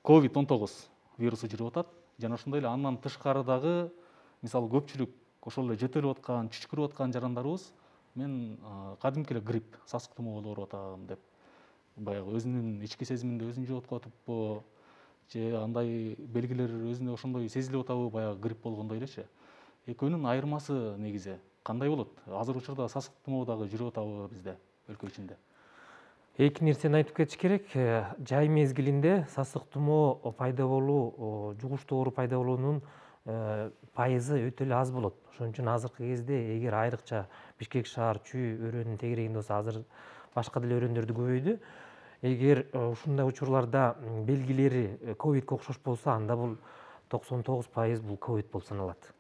COVID-19 вирусу жүрүп атат. Жана ошондой эле андан тышкары дагы мисалы көпчүлүк ошол эле жөтөлүп аткан, чүчкүрүп аткан жарандарыбыз мен кадимки эле грипп, сасык тумоо болуп ооруп атам деп баягы өзүнүн ички сезиминде өзүн жоотуп атыппы же андай белгилер өзүнө ошондой сезилип атабы баягы грипп болгондой элечи. Экөөнүн айырмасы негизи кандай болот? Азыр учурда сасык тумоо дагы жүрүп атабы бизде, өлкө ичинде? Эки нерсени айтып кетиш керек. Жай мезгилинде сасык тумоо пайда болуу, жугуштуу оору пайда болуунун пайызы өтө эле аз болот. Ошон үчүн азыркы кезде эгер айрыкча Бишкек шаар Чүй өрөөнүнүн тегерегинде болсо, азыр башка деле өрөөндөрдө көбөйдү. Эгер ушундай учурларда белгилери ковидке окшош болсо, анда бул 99% бул ковид болуп саналат.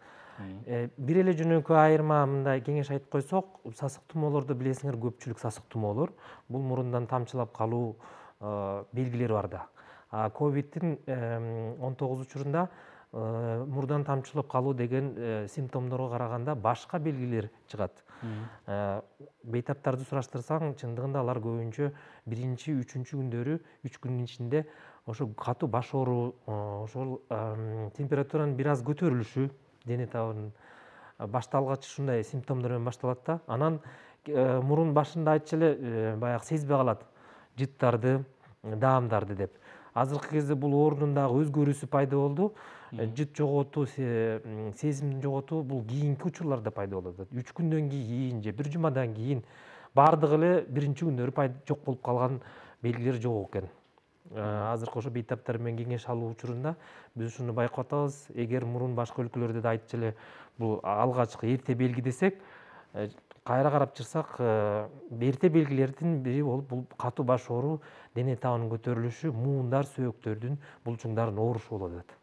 Бир эле жөнөкөй айырма мындай кеңеш айтып койсок, сасык тумоолорду билесиңер, көпчүлүк сасык тумоолор бул мурундан тамчылап калуу белгилери бар да. А ковидтин 19 учурунда мурдан тамчылап калуу деген симптомдорго караганда башка белгилер чыгат. Бейтаптарды сураштырсаң, чындыгында алар көбүнчө биринчи, үчүнчү күндөрү, 3 күндүн ичинде ошо катуу баш оору, ошол температуранын бир аз көтөрүлүшү, дене табынын башталгачы ушундай симптомдор менен башталат да. Анан мурун башында айтчу эле баягы сезбей калат жыттарды, даамдарды деп. Азыркы кезде бул оорунун дагы өзгөрүүсү пайда болду. Жыт жоготуу, сезимди жоготуу бул кийинки учурларда пайда болуп атат. 3 күндөн кийин же бир жумадан кийин бардыгы эле биринчи күндөрү жок болуп калган белгилер жок экен. Азыркы ошо бейтаптар менен кеңеш алуу учурунда биз ушуну байкап атабыз. Эгер мурун башка өлкөлөрдө да айтчу эле бул алгачкы эрте белги десек, кайра карап чыксак, эрте белгилердин бири болуп бул катуу баш оору, дене табынын көтөрүлүшү, муундар, сөөктөрдүн булчуңдарынын оорушу болуп атат.